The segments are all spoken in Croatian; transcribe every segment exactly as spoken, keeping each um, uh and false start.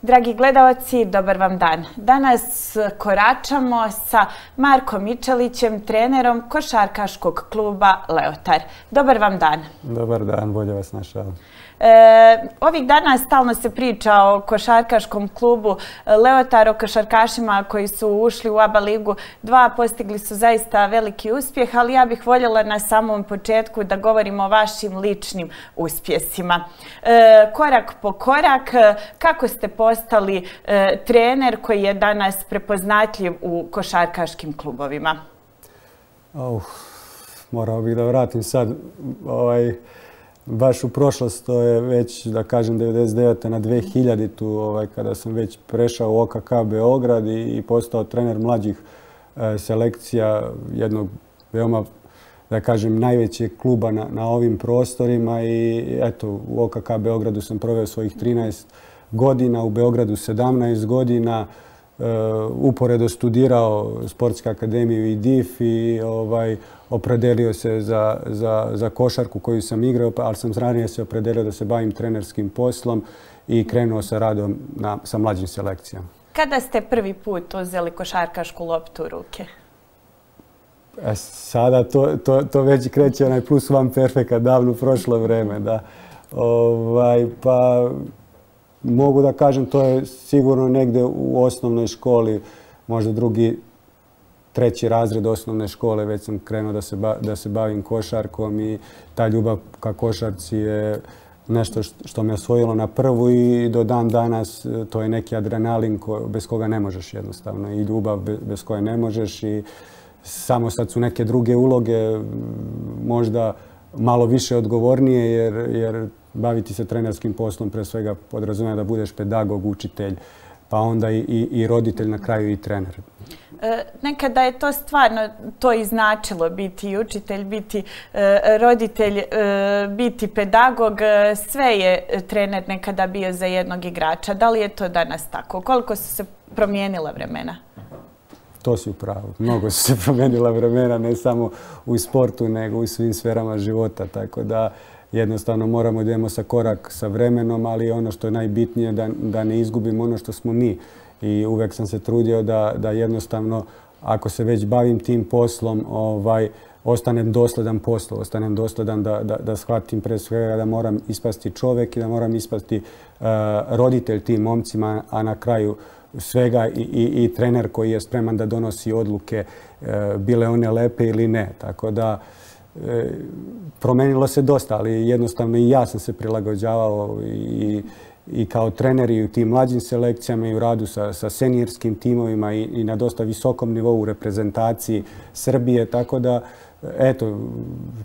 Dragi gledalci, dobar vam dan. Danas koračamo sa Markom Mičelićem, trenerom košarkaškog kluba Leotar. Dobar vam dan. Dobar dan, bolje vas našao. E, ovih dana stalno se priča o košarkaškom klubu Leotar, o košarkašima koji su ušli u A B A ligu dva, postigli su zaista veliki uspjeh, ali ja bih voljela na samom početku da govorimo o vašim ličnim uspjesima. E, korak po korak, kako ste postali e, trener koji je danas prepoznatljiv u košarkaškim klubovima? Oh, morao bih da vratim sad ovaj... Baš u prošlost, to je već, da kažem, devedeset devete na dve hiljaditu. Ovaj, kada sam već prešao u O K K Beograd i, i postao trener mlađih e, selekcija jednog veoma, da kažem, najvećeg kluba na, na ovim prostorima. I eto, u O K K Beogradu sam proveo svojih trinaest godina, u Beogradu sedamnaest godina, e, uporedo studirao Sportsku akademiju i D I F i ovaj, opredelio se za, za, za košarku koju sam igrao, ali sam ranije se opredelio da se bavim trenerskim poslom i krenuo sa radom na, sa mlađim selekcijama. Kada ste prvi put uzeli košarkašku loptu u ruke? E, sada to, to, to već kreće onaj plus one perfeka, davno prošlo vreme. Da. Ovaj, pa mogu da kažem, to je sigurno negde u osnovnoj školi, možda drugi, treći razred osnovne škole, već sam krenuo da se, ba, da se bavim košarkom i ta ljubav ka košarci je nešto što me osvojilo na prvu i do dan danas to je neki adrenalin ko, bez koga ne možeš jednostavno i ljubav bez, bez koje ne možeš i samo sad su neke druge uloge možda malo više odgovornije jer, jer baviti se trenerskim poslom pre svega podrazumijeva da budeš pedagog, učitelj, pa onda i, i, i roditelj, na kraju i trener. E, nekada je to stvarno to i značilo, biti i učitelj, biti e, roditelj, e, biti pedagog. Sve je trener nekada bio za jednog igrača. Da li je to danas tako? Koliko su se promijenila vremena? To si u pravu. Mnogo su se promijenila vremena, ne samo u sportu, nego u svim sferama života. Tako da jednostavno moramo da idemo sa korak sa vremenom, ali ono što je najbitnije da, da ne izgubimo ono što smo mi. I uvek sam se trudio da, da jednostavno, ako se već bavim tim poslom, ovaj, ostanem dosledan poslu, ostanem dosledan da, da, da shvatim pre svega da moram ispasti čovek i da moram ispasti uh, roditelj tim momcima, a na kraju svega i, i, i trener koji je spreman da donosi odluke, uh, bile one lepe ili ne. Tako da e, promenilo se dosta, ali jednostavno i ja sam se prilagođavao i i kao trener i u tim mlađim selekcijama i u radu sa, sa senijerskim timovima i, i na dosta visokom nivou u reprezentaciji Srbije. Tako da, eto,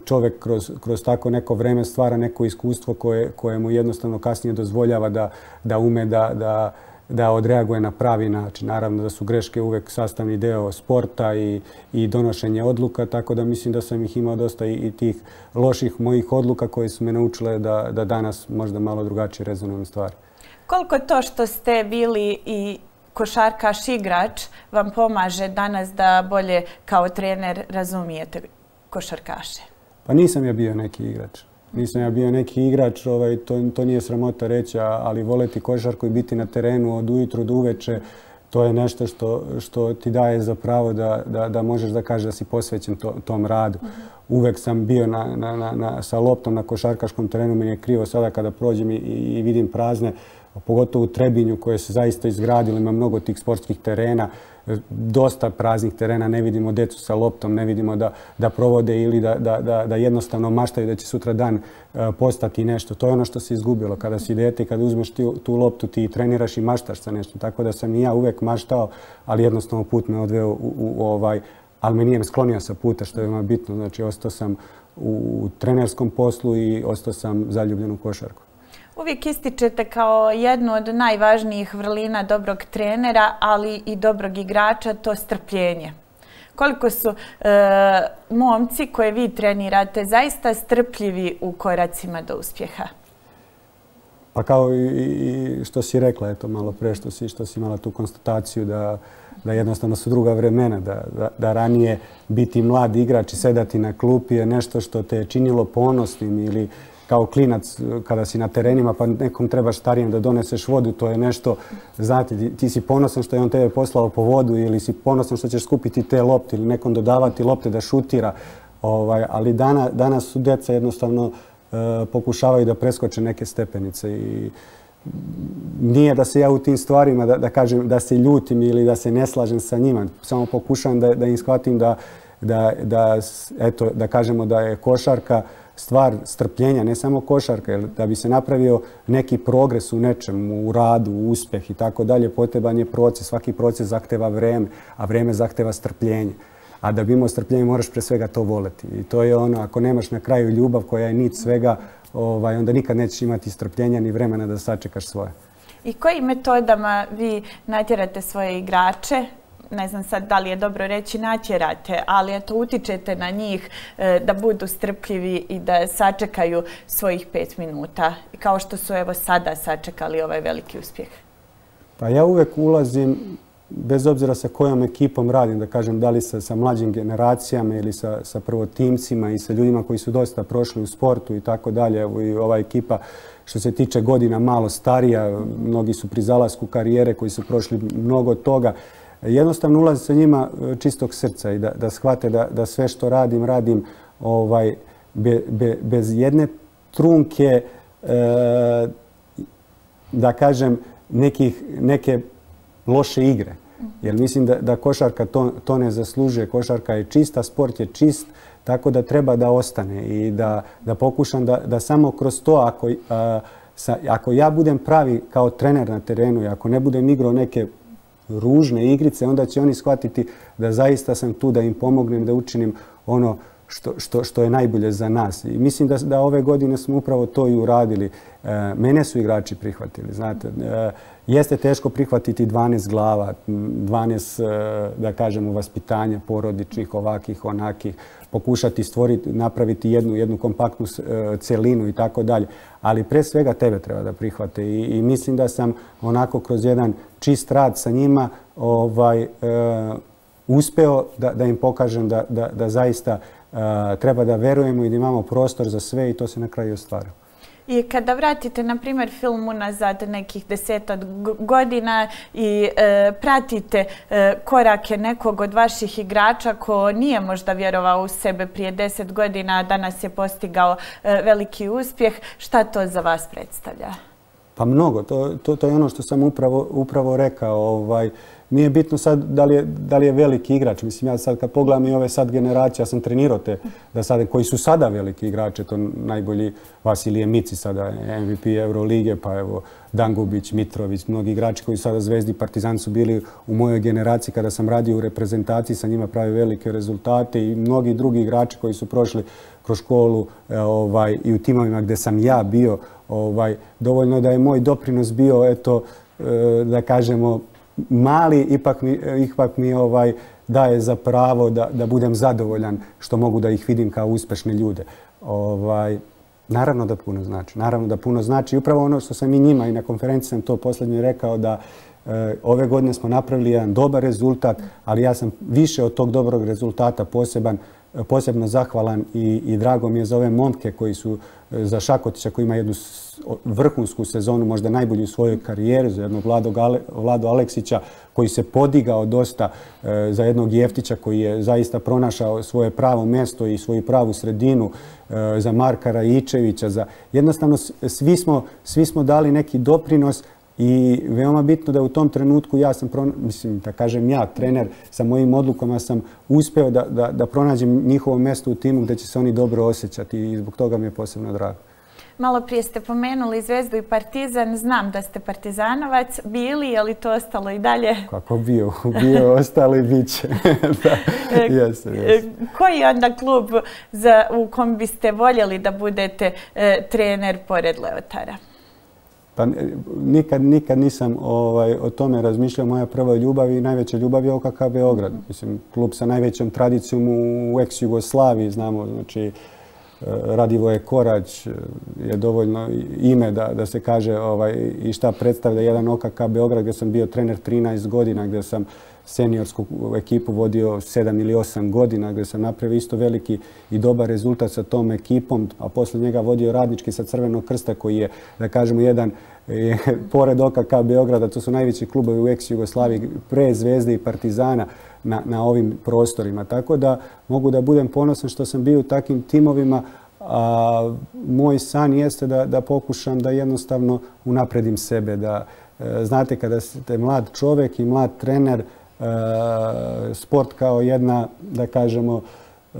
čovjek kroz, kroz tako neko vreme stvara neko iskustvo koje, koje mu jednostavno kasnije dozvoljava da, da ume da, da, da odreaguje na pravi način. Naravno da su greške uvek sastavni deo sporta i, i donošenje odluka, tako da mislim da sam ih imao dosta i, i tih loših mojih odluka koje su me naučile da, da danas možda malo drugačije rezonujem stvari. Koliko to što ste bili i košarkaš igrač vam pomaže danas da bolje kao trener razumijete košarkaše? Pa nisam ja bio neki igrač. Nisam ja bio neki igrač, ovaj, to, to nije sramota reći, ali voleti košarku i biti na terenu od ujutru do uveče, to je nešto što, što ti daje za pravo da, da, da možeš da kažeš da si posvećen to, tom radu. Uvek sam bio na, na, na, na, sa loptom na košarkaškom terenu, meni je krivo sada kada prođem i, i vidim prazne, pogotovo u Trebinju koje se zaista izgradilo, ima mnogo tih sportskih terena, dosta praznih terena, ne vidimo decu sa loptom, ne vidimo da, da provode ili da, da, da, da jednostavno maštaju da će sutra dan uh, postati nešto. To je ono što se izgubilo. Kada si dete, kada uzmeš ti, tu loptu, ti treniraš i maštaš sa nešto. Tako da sam i ja uvek maštao, ali jednostavno put me odveo u, u, u ovaj, ali me nije sklonio sa puta, što je veoma bitno. Znači, ostao sam u, u trenerskom poslu i ostao sam zaljubljen u košarku. Uvijek ističete kao jednu od najvažnijih vrlina dobrog trenera, ali i dobrog igrača, to strpljenje. Koliko su e, momci koje vi trenirate zaista strpljivi u koracima do uspjeha? Pa kao i, i što si rekla, eto malo pre što si, što si imala tu konstataciju da, da jednostavno su druga vremena, da, da, da ranije biti mlad igrač i sedati na klupi je nešto što te je činilo ponosnim ili kao klinac kada si na terenima pa nekom trebaš starijem da doneseš vodu, to je nešto, znate, ti, ti si ponosan što je on tebe poslao po vodu ili si ponosan što ćeš skupiti te lopte ili nekom dodavati lopte da šutira. Ovaj, ali dana, danas su djeca jednostavno e, pokušavaju da preskoče neke stepenice i nije da se ja u tim stvarima da, da kažem da se ljutim ili da se ne slažem sa njima. Samo pokušavam da, da im shvatim da, da, da, eto, da kažemo da je košarka stvar strpljenja, ne samo košarka, jer da bi se napravio neki progres u nečemu, u radu, u uspjeh i tako dalje, potreban je proces. Svaki proces zahteva vreme, a vreme zahteva strpljenje. A da bi imao strpljenje moraš pre svega to voleti. I to je ono, ako nemaš na kraju ljubav koja je nit svega, ovaj, onda nikad nećeš imati strpljenja ni vremena da sačekaš svoje. I kojim metodama vi natjerate svoje igrače? Ne znam sad da li je dobro reći natjerate, ali eto utičete na njih e, da budu strpljivi i da sačekaju svojih pet minuta. Kao što su evo sada sačekali ovaj veliki uspjeh. Pa ja uvek ulazim, bez obzira sa kojom ekipom radim, da kažem da li sa, sa mlađim generacijama ili sa, sa prvotimcima i sa ljudima koji su dosta prošli u sportu i tako dalje. Evo i ova ekipa što se tiče godina malo starija, mnogi su pri zalasku karijere koji su prošli mnogo toga. Jednostavno ulazi sa njima čistog srca i da, da shvate da, da sve što radim, radim ovaj, be, be, bez jedne trunke, e, da kažem, nekih, neke loše igre. Jer mislim da, da košarka to, to ne zaslužuje. Košarka je čista, sport je čist, tako da treba da ostane i da, da pokušam da, da samo kroz to, ako, a, sa, ako ja budem pravi kao trener na terenu i ako ne budem igrao neke ružne igrice, onda će oni shvatiti da zaista sam tu da im pomognem, da učinim ono što, što, što je najbolje za nas. I mislim da, da ove godine smo upravo to i uradili. E, mene su igrači prihvatili, znate. E, jeste teško prihvatiti dvanaest glava, dvanaest, e, da kažemo, vaspitanja porodičnih, ovakih, onakih, pokušati stvoriti, napraviti jednu, jednu kompaktnu e, celinu i tako dalje. Ali pre svega tebe treba da prihvate i, i mislim da sam onako kroz jedan čist rad sa njima ovaj, e, uspeo da, da im pokažem da, da, da zaista uh, treba da verujemo i da imamo prostor za sve i to se na kraju ostvarilo. I kada vratite, na primjer, film unazad nekih deseta godina i e, pratite e, korake nekog od vaših igrača ko nije možda vjerovao u sebe prije deset godina, a danas je postigao e, veliki uspjeh, šta to za vas predstavlja? Pa mnogo. To, to, to je ono što sam upravo, upravo rekao. Ovaj, nije bitno sad da li, je, da li je veliki igrač. Mislim, ja sad kad pogledam i ove sad generacije, ja sam trenirao te da sad, koji su sada veliki igrače, to najbolji Vasilije Mici, sada M V P Eurolige, pa evo Dangubić, Mitrović, mnogi igrači koji sada Zvezdi, Partizan su bili u mojoj generaciji kada sam radio u reprezentaciji, sa njima pravi velike rezultate i mnogi drugi igrači koji su prošli kroz školu ovaj, i u timovima gdje sam ja bio. Ovaj, dovoljno da je moj doprinos bio, eto, da kažemo, mali, ipak mi, ipak mi ovaj, daje za pravo da, da budem zadovoljan što mogu da ih vidim kao uspešne ljude. Ovaj, naravno da puno znači. Naravno da puno znači. I upravo ono što sam i njima i na konferenciji sam to posljednje rekao da e, ove godine smo napravili jedan dobar rezultat, ali ja sam više od tog dobrog rezultata poseban, posebno zahvalan i, i drago mi je za ove momke koji su za Šakotića koji ima jednu vrhunsku sezonu, možda najbolju u svojoj karijeri, za jednog Vladu Aleksića koji se podigao dosta, e, za jednog Jeftića koji je zaista pronašao svoje pravo mjesto i svoju pravu sredinu, e, za Marka Rajičevića. Za... Jednostavno svi smo, svi smo dali neki doprinos i veoma bitno da u tom trenutku ja sam, mislim, da kažem ja, trener, sa mojim odlukama sam uspeo da, da, da pronađem njihovo mjesto u timu gdje će se oni dobro osjećati i zbog toga mi je posebno drago. Malo prije ste pomenuli Zvezdu i Partizan. Znam da ste partizanovac bili, je li to ostalo i dalje? Kako bio? Bio, ostalo i bit će. Jeste, jeste. Koji je onda klub za, u kom biste voljeli da budete e, trener pored Leotara? Pa nikad, nikad nisam ovaj, o tome razmišljao. Moja prva ljubav i najveća ljubav je O K K Beograd. Mislim, klub sa najvećom tradicijom u ex-Jugoslaviji, znamo, znači Radivoje Korać je dovoljno ime da, da se kaže ovaj, i šta predstavlja jedan O K K Beograd gdje sam bio trener trinaest godina, gdje sam seniorsku ekipu vodio sedam ili osam godina, gdje sam napravio isto veliki i dobar rezultat sa tom ekipom, a posle njega vodio Radnički sa Crvenog krsta koji je, da kažemo, jedan je, pored O K K Beograda, to su najveći klubovi u ex-Jugoslaviji, pre Zvezde i Partizana na, na ovim prostorima. Tako da mogu da budem ponosan što sam bio u takvim timovima, a moj san jeste da, da pokušam da jednostavno unapredim sebe. Da, e, znate, kada ste mlad čovjek i mlad trener, e, sport kao jedna, da kažemo, e,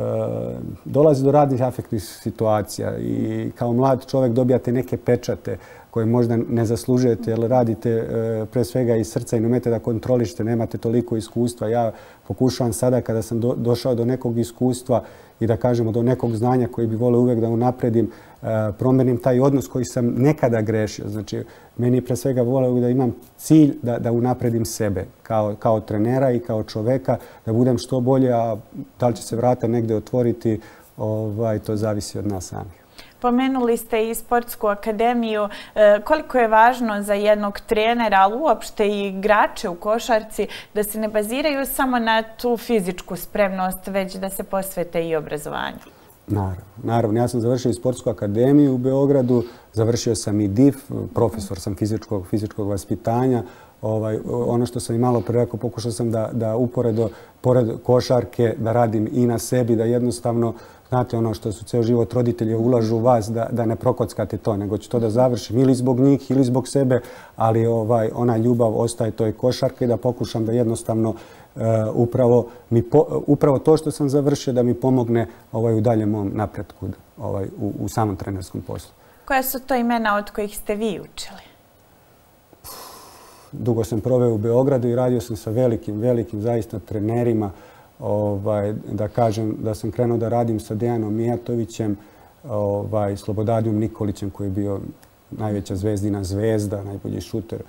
dolazi do raznih afektnih situacija i kao mlad čovjek dobijate neke pečate koje možda ne zaslužujete jer radite e, pre svega iz srca i ne umete da kontrolišete, nemate toliko iskustva. Ja pokušavam sada kada sam do, došao do nekog iskustva i da kažemo do nekog znanja koji bi volio uvijek da unapredim, e, promenim taj odnos koji sam nekada grešio. Znači, meni je pre svega volio da imam cilj da, da unapredim sebe kao, kao trenera i kao čoveka, da budem što bolje, a da li će se vrata negdje otvoriti, ovaj, to zavisi od nas samih. Pomenuli ste i sportsku akademiju. Koliko je važno za jednog trenera, ali uopšte i igrače u košarci, da se ne baziraju samo na tu fizičku spremnost, već da se posvete i obrazovanju? Naravno. Naravno. Ja sam završio i sportsku akademiju u Beogradu, završio sam i D I F, profesor sam fizičkog, fizičkog vaspitanja. Ovaj, ono što sam i malo pre rekao, pokušao sam da, da uporedo, pored košarke, da radim i na sebi, da jednostavno, znate, ono što su ceo život roditelji ulažu u vas, da, da ne prokockate to, nego ću to da završim ili zbog njih ili zbog sebe, ali ovaj, ona ljubav ostaje toj košarke i da pokušam da jednostavno uh, upravo, mi po, upravo to što sam završio da mi pomogne ovaj, u daljem mom napretku ovaj, u, u samom trenerskom poslu. Koja su to imena od kojih ste vi učili? Dugo sam proveo u Beogradu i radio sam sa velikim, velikim zaista trenerima. Ovaj, da kažem da sam krenuo da radim sa Dejanom Mijatovićem, ovaj, Slobodadijom Nikolićem koji je bio najveća zvezdina zvezda, najbolji šuter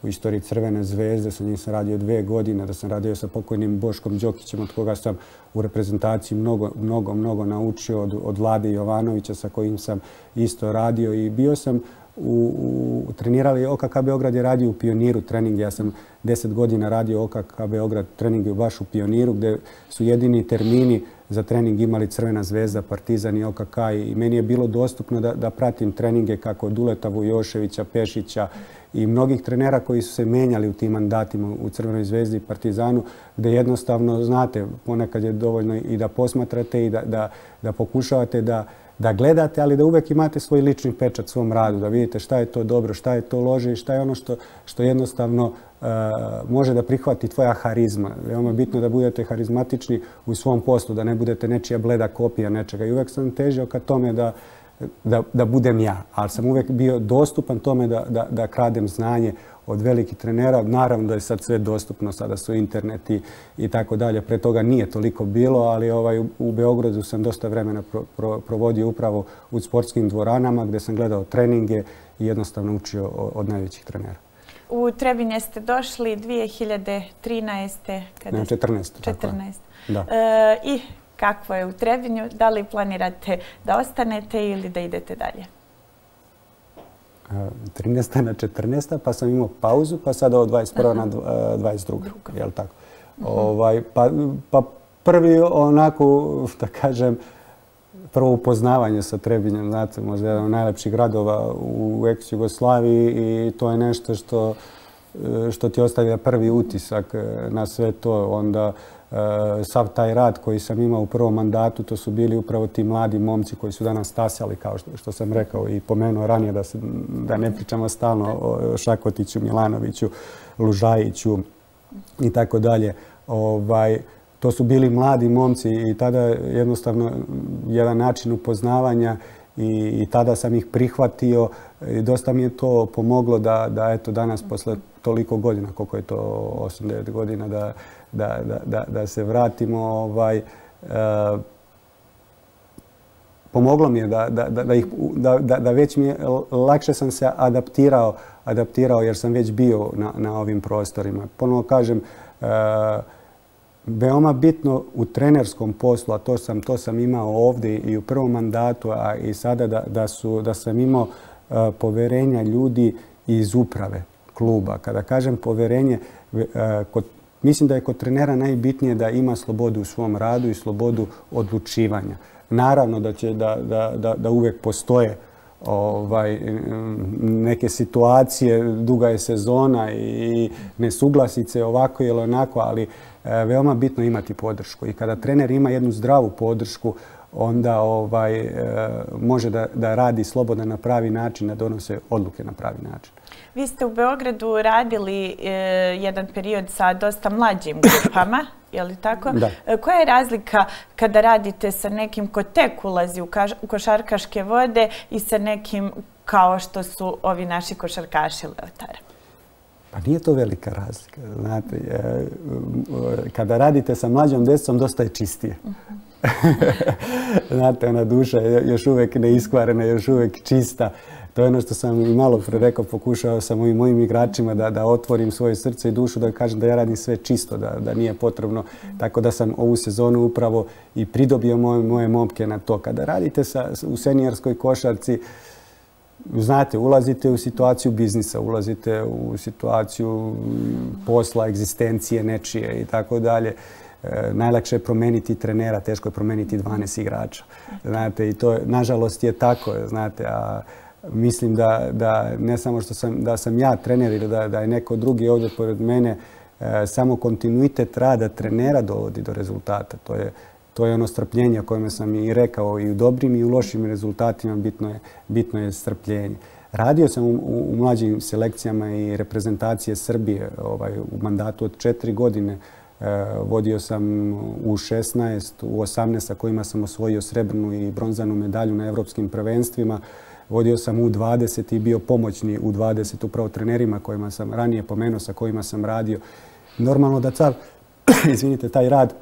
u istoriji Crvene zvezde. Sa njim sam radio dve godine, da sam radio sa pokojnim Boškom Đokićem, od koga sam u reprezentaciji mnogo, mnogo, mnogo naučio, od, od Vlade Jovanovića sa kojim sam isto radio i bio sam U, u, trenirali O K K Beograd je radio u Pioniru trening. Ja sam deset godina radio O K K Beograd treninge baš u Pioniru gdje su jedini termini za trening imali Crvena zvezda, Partizan i O K K i meni je bilo dostupno da, da pratim treninge kako Duleta Vujoševića, Pešića i mnogih trenera koji su se menjali u tim mandatima u Crvenoj zvezdi i Partizanu, gdje jednostavno, znate, ponekad je dovoljno i da posmatrate i da, da, da pokušavate da da gledate, ali da uvek imate svoj lični pečat svom radu, da vidite šta je to dobro, šta je to loše i šta je ono što, što jednostavno uh, može da prihvati tvoja harizma. Veoma bitno da budete harizmatični u svom poslu, da ne budete nečija bleda kopija nečega. I uvek sam težio ka tome da, da, da budem ja, ali sam uvek bio dostupan tome da, da, da kradem znanje od velikih trenera. Naravno da je sad sve dostupno, sada su interneti i tako dalje. Pre toga nije toliko bilo, ali ovaj, u Beogradu sam dosta vremena pro, pro, provodio upravo u sportskim dvoranama gdje sam gledao treninge i jednostavno učio od najvećih trenera. U Trebinje ste došli dvije hiljade trinaeste. Kada ne, četrnaeste. četrnaeste. Da. E, I kakvo je u Trebinju? Da li planirate da ostanete ili da idete dalje? trinaesta na četrnaesta, pa sam imao pauzu, pa sada od dvadeset prve na dvadeset druge. Jel tako? Uh-huh. Ovaj, pa, pa prvi onako, da kažem, prvo upoznavanje sa Trebinjem, znate, možda jedan od najlepših gradova u ex-Jugoslaviji i to je nešto što, što ti ostavlja prvi utisak na sve to. Onda sav taj rad koji sam imao u prvom mandatu, to su bili upravo ti mladi momci koji su danas stasali, kao što, što sam rekao i pomenuo ranije, da, se, da ne pričamo stalno o Šakotiću, Milanoviću, Lužajiću i tako dalje. Ovaj, to su bili mladi momci i tada jednostavno jedan način upoznavanja i, i tada sam ih prihvatio i dosta mi je to pomoglo da, da eto danas posle toliko godina, koliko je to osam devet godina, da Da, da, da, da se vratimo. Ovaj, e, pomoglo mi je da, da, da, ih, da, da, da već mi je, lakše sam se adaptirao, adaptirao jer sam već bio na, na ovim prostorima. Ponovo kažem, e, veoma bitno u trenerskom poslu, a to sam, to sam imao ovdje i u prvom mandatu, a i sada da, da, su, da sam imao e, poverenja ljudi iz uprave kluba. Kada kažem poverenje, e, kod mislim da je kod trenera najbitnije da ima slobodu u svom radu i slobodu odlučivanja. Naravno da će da, da, da, da uvijek postoje ovaj, neke situacije, duga je sezona i nesuglasice ovako ili onako, ali veoma bitno imati podršku. I kada trener ima jednu zdravu podršku, onda ovaj, može da, da radi slobodno na pravi način, da donose odluke na pravi način. Vi ste u Beogradu radili e, jedan period sa dosta mlađim grupama, je li tako? Da. E, koja je razlika kada radite sa nekim ko tek ulazi u, kaš, u košarkaške vode i sa nekim kao što su ovi naši košarkaši Leotara? Pa nije to velika razlika. Znate, e, kada radite sa mlađom djecom, dosta je čistije. Uh-huh. Znate, ona duša je još uvijek neiskvarena, još uvijek čista. To je ono što sam i malo pre rekao, pokušao sam ovim mojim igračima da, da otvorim svoje srce i dušu, da kažem da ja radim sve čisto, da, da nije potrebno. Tako da sam ovu sezonu upravo i pridobio moje, moje momke na to. Kada radite sa, u seniorskoj košarci, znate, ulazite u situaciju biznisa, ulazite u situaciju posla, egzistencije nečije i tako dalje. Najlakše je promeniti trenera, teško je promeniti dvanaest igrača. Znate, i to nažalost je tako, znate, a mislim da, da ne samo što sam, da sam ja trener ili da, da je neko drugi ovdje pored mene, e, samo kontinuitet rada trenera dovodi do rezultata. To je, to je ono strpljenje o kojem sam i rekao, i u dobrim i u lošim rezultatima bitno je, bitno je strpljenje. Radio sam u, u, u mlađim selekcijama i reprezentacije Srbije ovaj, u mandatu od četiri godine. E, vodio sam u šesnaest, u osamnaest sa kojima sam osvojio srebrnu i bronzanu medalju na evropskim prvenstvima. Vodio sam u dvadeset i bio pomoćni u dvadeset upravo trenerima kojima sam ranije pomenuo, sa kojima sam radio. Normalno da car, izvinite, taj rad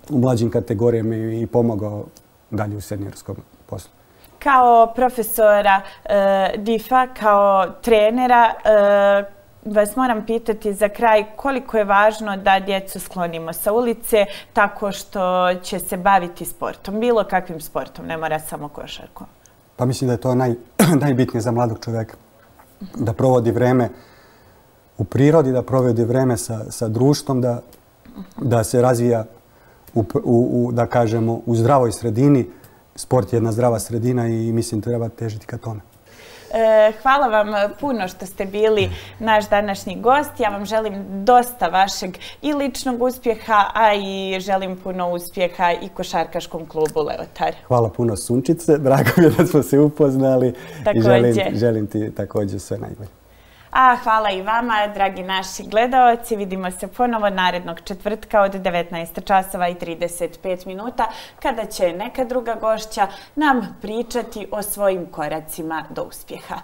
u mlađim kategorijama i pomogao dalje u seniorskom poslu. Kao profesora e, Difa, kao trenera, e, vas moram pitati za kraj koliko je važno da djecu sklonimo sa ulice tako što će se baviti sportom, bilo kakvim sportom, ne mora samo košarkom. Pa mislim da je to naj, najbitnije za mladog čovjeka. Da provodi vreme u prirodi, da provodi vreme sa, sa društvom, da, da se razvija u, u, u, da kažemo, u zdravoj sredini. Sport je jedna zdrava sredina i mislim treba težiti ka tome. Hvala vam puno što ste bili naš današnji gost. Ja vam želim dosta vašeg i ličnog uspjeha, a i želim puno uspjeha i košarkaškom klubu Leotar. Hvala puno Sunčice, drago mi je da smo se upoznali i želim, želim ti također sve najbolje. A hvala i vama, dragi naši gledaoci. Vidimo se ponovo narednog četvrtka od devetnaest časova i trideset pet minuta, kada će neka druga gošća nam pričati o svojim koracima do uspjeha.